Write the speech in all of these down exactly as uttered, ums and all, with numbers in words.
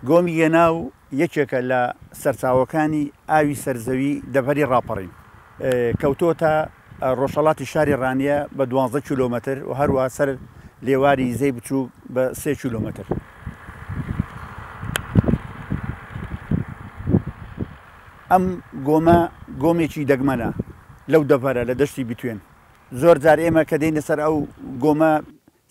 گۆمی گەناو یەکێکە لە سەرچاوەکانی ئاوی سەرزەوی دەڤەری ڕاپەڕین، کەوتۆتە ڕۆژهەڵاتی شاری ڕانیە بە دوازدە کیلۆمەتر و هەروە سەر لێواری زەی بچوو بە سێ کیلۆمەتر. ئەم گۆمە گۆمێکی دەگمەنە لەو دەڤەرە لە دەشتی بتوێن. زۆر جار ئێمە کە دێینە سەر ئەو گۆمە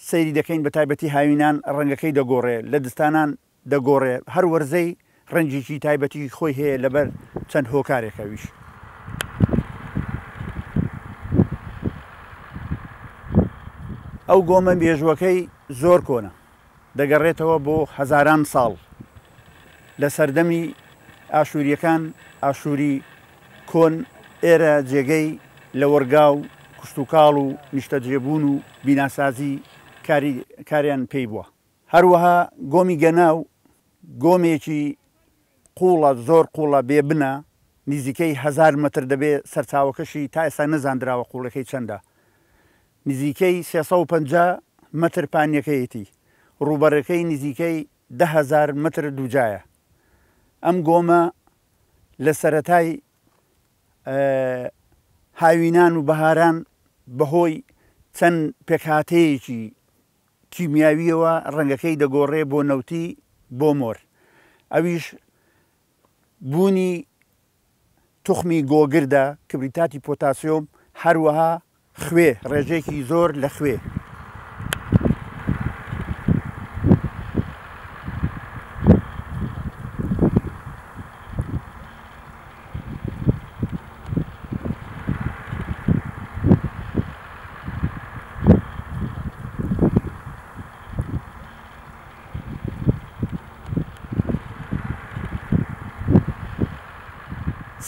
سەیری دەکەین، بە تایبەتی هاوینان ڕەنگەکەی دەگۆڕێ، لە دستانان دەگۆڕێ، هەر وەرزەی ڕەنگێکی تایبەتی خۆی هەیە لەبەر چەند هۆکارێکەویش. ئەو گۆمە مێژوەکەی زۆر کۆنە، دەگەڕێتەوە بۆ هەزاران ساڵ لە سەردەمی ئاشووریەکان. ئاشووری کۆن ئێرە جێگەی لەوەرگا و کوشتتوکاڵ و نیشتەجێبوون و بیناسازی کاریان پێی بووە. هەروەها گۆمی گەناو گۆمێکی قوڵە، زۆر قوڵە، بێبنە، نزیکەی هەزار مەتر دەبێ. سەرچاوەکەشی تا ئێستا نەزاندراوە قوڵەکەی چەندە، نزیکەی سێ سەد و پەنجا مەتر پانیەکەیەتی، ڕووبەرەکەی نزیکەی ده هەزار مەتر دووجایە. ئەم گۆمە لە سەرەتای هاوینان و بەهاران بەهۆی چەند پێکهاتەیەکی کیمیاویەوە ڕەنگەکەی دەگۆڕێ بۆ نەوتی بۆ مۆر. ئەویش بوونی توخمی گۆگردە، کبریتاتی پۆتاسیۆم، هەروەها خوێ، ڕێژەیەکی زۆر لە خوێ.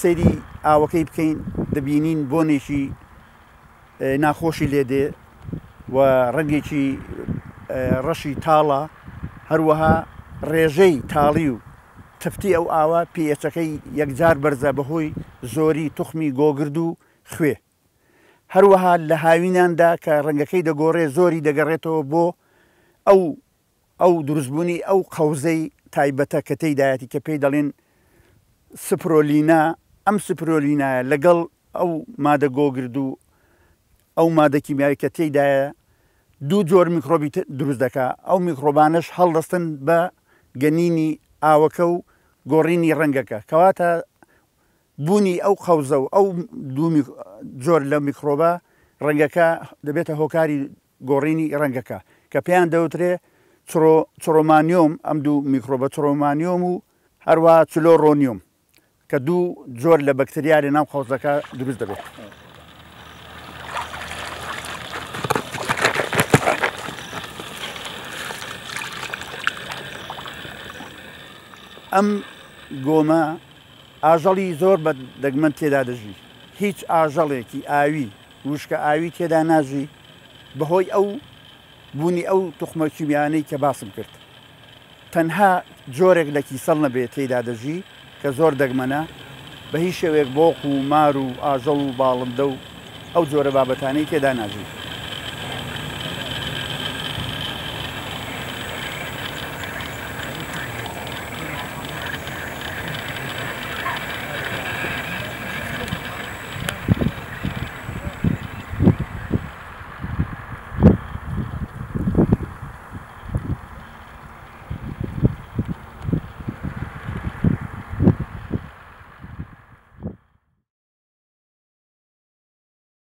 سەیری ئاوەکەی بکەین دەبینین بۆنێکی ناخۆشی لێدێ و ڕەنگێکی ڕەشی تاڵە، هەروەها ڕێژەی تاڵی و تفتی ئەو ئاوە پێچەکەی یەکجار بەرزە بەهۆی زۆری توخمی گۆگرد و خوێ. هەروەها لە هاویناندا کە ڕەنگەکەی دەگۆڕێ زۆری دەگەڕێتەوە بۆ ئەو ئەو دروستبوونی ئەو قەوزەی تایبەتە کە تێیدایەتی کە پێی دەڵێن سپرۆلینا. ئەم سپرۆلینایە لەگەڵ ئەو مادە گۆگرد و ئەو مادە کیمیاوی کە تێیدایە دوو جۆر میکرۆبی دروست دەکا. ئەو میکرۆبانەش هەڵدەستن بە گەنینی ئاوەکە و گۆڕینی ڕەنگەکە، کەواتە بوونی ئەو قەوزە و ئەو دوو جۆر لە میکرۆبە ڕەنگەکە دەبێتە هۆکاری گۆڕینی ڕەنگەکە کە پێیان دەوترێ چرۆمانیۆم. ئەم دوو میکرۆبە چرۆمانیۆم و هەروە چلۆرۆنیۆم کە دوو جۆر لە بەکتریا لە ناو قەوزەکە دروست دەبێت. ئەم گۆمە ئاژەڵی زۆر بە دەگمەن تێدا دەژی، هیچ ئاژەڵێکی ئاوی وشکە ئاوی تێدا ناژی بەهۆی ئەو بوونی ئەو توخمە کیمیانەی کە باسم کرد. تەنها جۆرێک لە کیسەڵ نەبێت تێدا دەژی کە زۆر دەگمەنە، بە هیچ شێوەیەک بۆق و مار و ئاژەڵ و باڵندە و ئەو جۆرە بابەتانەی تێدا ناژی.